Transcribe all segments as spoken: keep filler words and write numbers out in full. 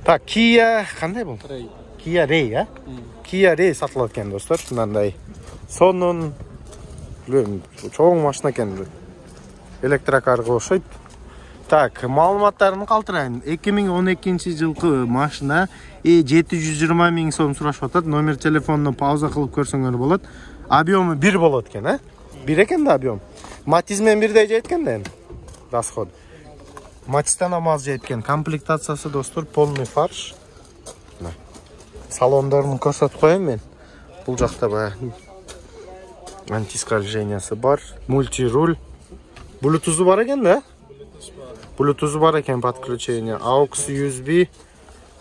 Так, Kia кандай бул? Kia Ray, а? Kia Ray сатылат экен, достор. Мындай сонун чоң машина экен. Электрокарга окшойт. Так, маалыматтарын калтырайын. эки миң он экинчи жылкы машина жети жүз жыйырма миң сом сурашып атат. Номер телефонуна пауза кылып көрсөңөр болот. Объему бир болот экен, а? бир экен да объем. Матиз менен бирдей жеткен да. Расход. Матистан амаз жеткен. Комплектациясы, достор, полный фарш. Салондорун көрсөтүп коеюн мен. Бул жакта баягы антискольжениясы бар, мультируль. Bluetooth'u бар экен да? Bluetooth'u бар экен, подключение. aux ю эс би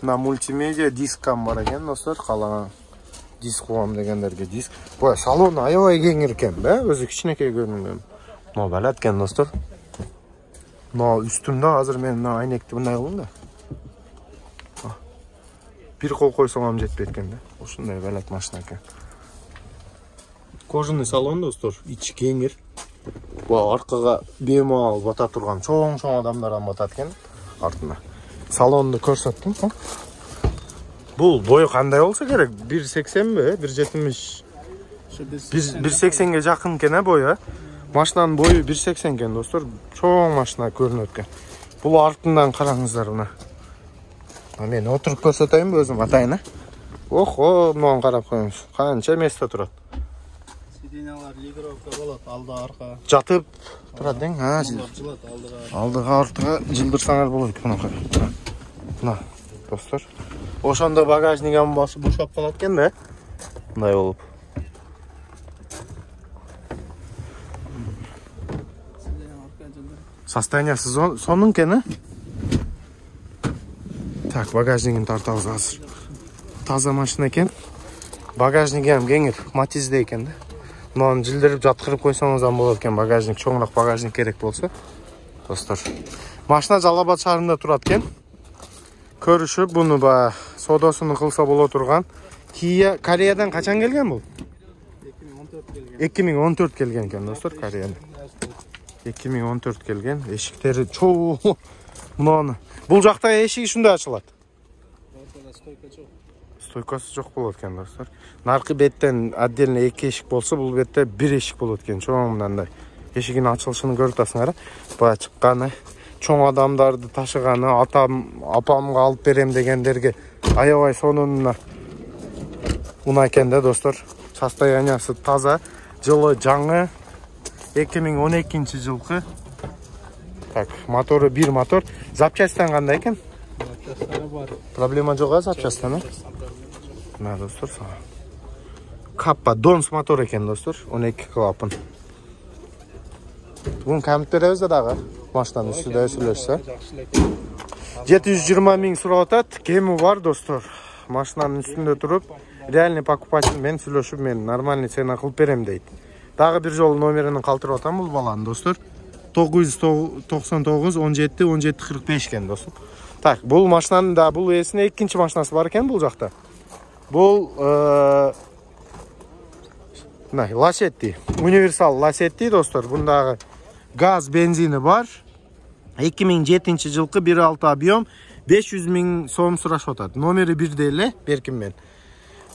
на мультимедиа дискам бар экен, достор. Калган диск кугам дегендерге диск. Бу салон аябай кеңир экен да, өзү кичинекей көрүнгөн. Мына балат экен, достор. Мына үстүмдө азыр мен мына айнекти мындай кылдым да. Бир кол койсоң ам жетпейт экен да. Ушундай балат машина экен. Кожаный салон, достор, ичи кеңир. Бу аркага бемал бата турган чоң-чоң адамдардан батат экен артына. Салонду көрсөттүм. Бул бою кандай болсо керек? бир сексенби, бир жетимиш? бир сексенге жакын экен бою. Машинанын бою бир сексен экен, достор. Чоң машина көрүнөт экен. Бул артынан караңыздар мына. Мен отуруп көрсөтөйүнбү өзүм атайын, а? Охо, мынаны карап коюңуз. Канча место турат. Сиденьялар легировка болот, алды арка. Жатып турат дең, а? Жылат алдыга. Алдыга артыга жылдырсаңар болот мынакай. Мына, достор. Ошондо багажник амбасы бошоп калат экен да. Мындай болуп. Состояниясы сонун экен, а? Так, багажнигин тартабыз азыр. Таза машина экен. Багажниги ham кеңир, матизде экен да. Мынаны жылдырып жаткырып койсоңуз ham болот экен, багажник чоңураак багажник керек болсо. Достор, машина Жалал Абад шаарында турат экен. Көрүшүп, буну ба содосуну кылса боло турган. Kia Кореядан качан келген бул? эки миң он төрт келген экен, достор, Кореядан. эки миң он төрт келген. Эшиктери чоң. Мынаны. Бул жакта эшиги ушундай ачылат. Ортада стойка жок. Стойкасы жок болот экен, достор. Наркы беттен отдельно эки эшик болсо, бул бетте бир эшик болот экен, чоң мындай. Эшигин ачылышын көрүп атасыңар. Бая чыкканы, чоң адамдарды ташыганы, атам, апамга алып берем дегендерге аябай сонун унаа экен да, достор. Состояниясы таза, жылы жаңы. эки миң он экинчи жылкы. Так, мотору бир мотор. Запчастьтан кандай экен? Запчасттары бар. Проблема жок, а запчасттан, а? Мына, достор, Каппа Донс мотор экен, достор, он эки клапан. Бун камит беребиз да дагы. Машинанын үстүндө сүйлөшсө. жети жүз жыйырма миң сурап атат. Кеми бар, достор. Машинанын үстүндө туруп, реальный покупатель менен сүйлөшүп, мен нормальный цена кылып берем дейт. Дагы бир жолу номерин калтырып атам бул баланын, достор. тогуз жүз токсон тогуз он жети он жети кырк беш экен, достор. Так, бул машинанын да бул эсине экинчи машинасы бар экен бул жакта. Бул мына Lacetti, универсал Lacetti, достор. Бундагы газ, бензини бар. эки миң жетинчи жылкы бир алты объем, беш жүз миң сом сурашып атат. Номери бирдей эле, берким мен.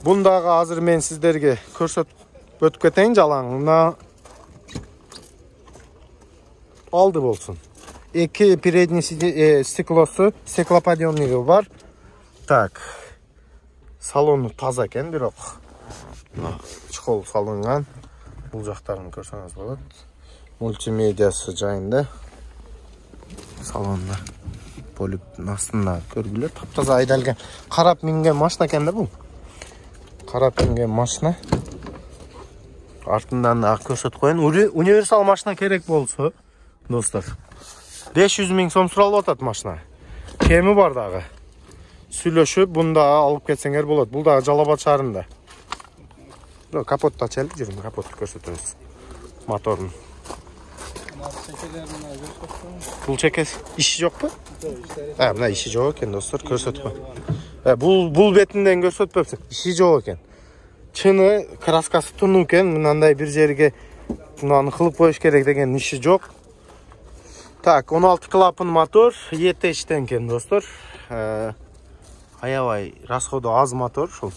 Бундагы азыр мен сиздерге көрсөтүп өтүп кетейин жалаң. Мына алды болсун. эки передний стеклосу, стеклоподъемниги бар. Так. Салону таза экен, бирок чехол салынган. Бул жактарын көрсөңүз болот. Мультимедиасы жайында. Салонда полип астында көргүлөр, таптаза айдалган. Карап минген машина экен да бул. Карап минген машина. Артынан да көрсөтүп коеюн. Универсал машина керек болсо, достор, беш жүз миң сом суралып атат машина. Кеми бар дагы. Сүйлөшүп, бунда алып кетсеңер болот. Бул дагы Жалал Абад шаарында. Капотту ачайлы, жүрүм, капотту көрсөтөбүз. Моторун. Бул чекес иши жокпу? А, мына иши жок экен, достор, көрсөтүп кой. Э, бул бул бетинден көрсөтпөпсүң. Иши жок экен. Чыны краскасы тунуу экен, мындай бир жерге мынаны кылып коюш керек деген иши жок. Так, он алты клапан мотор, E T H-тен экен, достор. аябай расходу аз мотор ушул.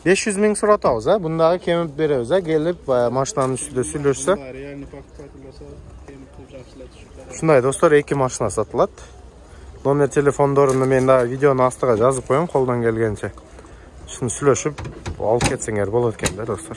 беш жүз миң суратабыз, а? Бундагы кемип беребиз, а? Келип машинанын үстүндө сүйлөшсө. Реальный покупатель болсо, кемип жакшылатышат. Ушундай достор, эки машина сатылат. Номер телефондорун мен дагы видеонун астыга жазып коем колдон келгенче. Шуну сүйлөшүп алып кетсеңер болот экен да достор.